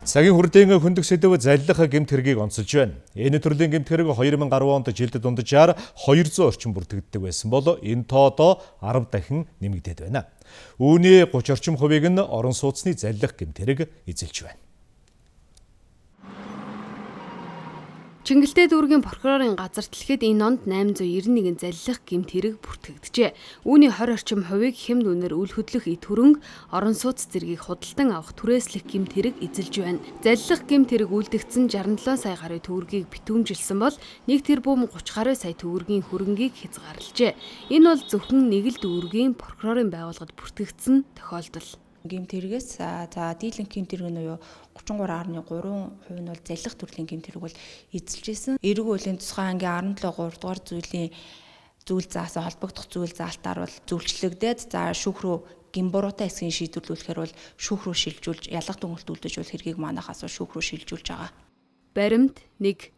Цагийн хүрдээн хөндөг сэдэв заллах гэмт хэргийг онцолж байна. Энэ төрлийн гэмт хэрэг 2010 онд жилд дунджаар 200 орчим бүртгэгддэг байсан бол энэ тоо одоо 10 дахин нэмэгдээд байна. Үүний 30 орчим хувийг нь орон сууцны заллах гэмт хэрэг эзэлж байна. Чингэлтэй дүүргийн прокурорын газар дэлхэд энэ онд 891 заллах гэмт хэрэг бүртгэгджээ. Үүний 20 орчим хувийг хямд үнээр үл хөдлөх эд хөрөнгө, орон сууц зэргийг худалдан авах түрээслэх гэмт хэрэг эзэлж байна. Заллах гэмт хэрэг үлдэгдсэн 67 сая гаруй төгрөгийг битүүмжилсэн бол 1 тэрбум 30 гаруй сая төгрөгийн хөрөнгийг хязгаарлажээ. Энэ бол зөвхөн нэг л дүүргийн прокурорын байгууллагад бүртгэгдсэн тохиолдол. Гэмт хэрэгээс дийлэнх гэмт хэрэг нь юу 33.3% нь бол заллах төрлийн гэмт хэрэг бол эзэлжсэн. Эрэг үеийн тусгай ангийн 17 3 дугаар зүйл заасан холбогдох зүйл заалтаар бол зөвлөлчлөгдөөд шүүх рүү гимбуруутай хэсгийн шийдвэрлүүлэхээр бол шүүх рүү шилжүүлж ялах дүнэлт үлдэж бол хэргийг манахаас шүүх рүү шилжүүлж байгаа. Баримт 1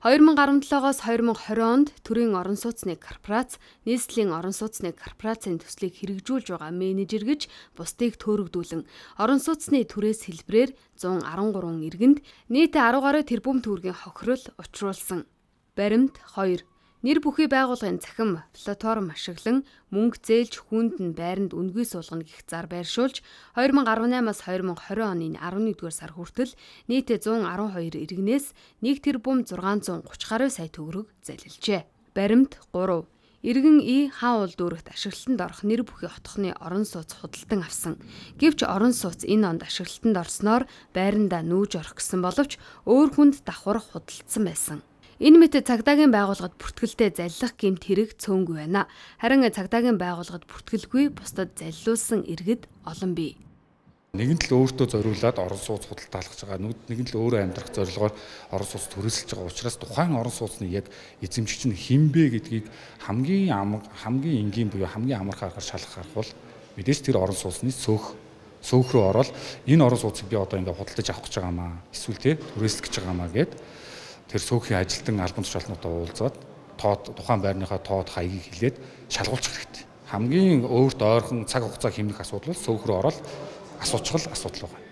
2017-оос 2020 онд төрийн орон сууцны корпорац, нийслэлийн орон сууцны корпорацийн төслийг хэрэгжүүлж байгаа менежер гэж бусдыг төөрөгдүүлэн орон сууцны түрээс хэлбэрээр 113 иргэнд нийт 10 гаруй тэрбум төгрөгийн хохирол учруулсан. Баримт 2 нэр бүхий байгууллагын цахим платформ ашиглан мөнгө зээлж хүнд нь байранд үнгүй суулгана гэх зар байршуулж 2018-аас 2020 оны 11-р сар хүртэл нийтээ 112 иргэнээс 1 тэрбум 630 гаруй сая төгрөг залилжээ. Баримт 3 иргэн хаан уул дүүрэгт ашиглалтанд орох нэр бүхий хотхны орон сууц худалдан авсан. Гэвч орон сууц энэ онд ашиглалтанд орсноор байрандаа нүүж орох гэсэн боловч өөр хүнд давхар худалдсан байсан. Энэ мэт цагдаагийн байгууллагад бүртгэлтэй заллах гэмт хэрэг цөөнгүй байна. Харин цагдаагийн байгууллагад бүртгэлгүй бусдад заллуулсан иргэд олон бий. Нэгэн л өөртөө зориулаад орон сууц худалдаалгаж байгаа. Нэгэн л өөрөө амьдрах зорилгоор орон сууц төрөлсөж байгаа учраас тухайн орон сууцны яг эзэмшигч нь хинбэ гэдгийг хамгийн энгийн буюу хамгийн амархан аргаар шалгах бол мэдээж тэр орон сууцны сөөх рүү ороод энэ орон сууцыг би одоо ингээд худалдаж авах гэж байгаамаа. Эсвэл түрээслэх гэж байгаамаа гэд тэр сөөхийн ажилтан албан тушаалтнуудаа уулзаад тухайн байрныхаа тоод хаягийг хэлээд шалгуулчих хэрэгтэй. Хамгийн өөрт ойрхон цаг хугацаа хэмнэх асуудал бол сөөх рүү ороод асуудал байна.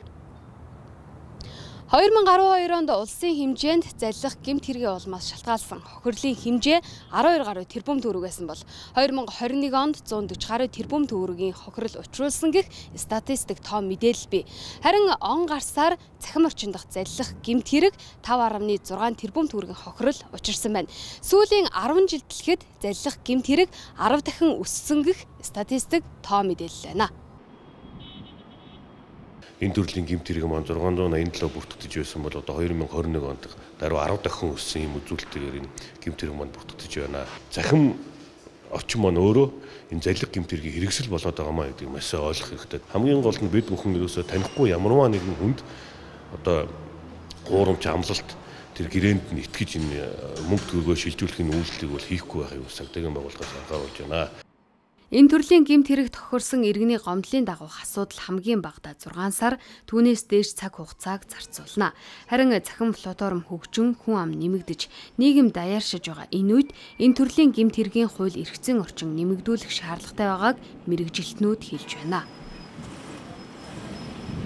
2012 онд улсын хэмжээнд заллах гэмт хэргийн улмаас шалтгаалсан хохирлын хэмжээ 12 гаруй тэрбум төгрөг байсан бол 2021 онд 140 гаруй тэрбум төгрөгийн хохирол учруулсан гэх статистик том мэдээлэл бий. Харин он гарсаар цахим орчин дахь заллах гэмт хэрэг 5.6 тэрбум төгрөгийн хохирол учирсан байна. Сүүлийн 10 жил дэлхэд заллах гэмт хэрэг 10 дахин өссөн гэх статистик том мэдээлэл байна. Энэ төрлийн гэмт хэрэг маань 687 бүртгэж байсан бол одоо 2021 онд даруй 10 дахин өссөн юм үзүүлэлтээр энэ гэмт хэрэг маань бүртгэж байна. Захим орчин маань өөрөө энэ заллах гэмт хэргийг хэрэгсэл болоод байгаа маа гэдгийг маш сайн ойлгох хэрэгтэй. Хамгийн гол нь бид бүхэн ерөөсөө танихгүй ямарваа нэгэн хүнд одоо гуурамч амлалт тэр гэрээнд нь итгэж энэ мөнгө төгрөгөө шилжүүлэхийн үйлчлэлийг бол хийхгүй байхыг цагдаагийн байгууллагаас анхааруулж байна. Энэ төрлийн гэмт хэрэг тохирсон иргэний гомдлын дагуух асуудал хамгийн багадаа 6 сар түүнээс дээш цаг хугацааг зарцуулна. Харин цахим платформ хөгжин хүн ам нэмэгдэж нийгэм даяаршиж байгаа энэ үед энэ төрлийн гэмт хэргийн хууль эрх зүйн орчин нэмэгдүүлэх шаардлагатай байгааг мэргэжилтнүүд хэлж байна.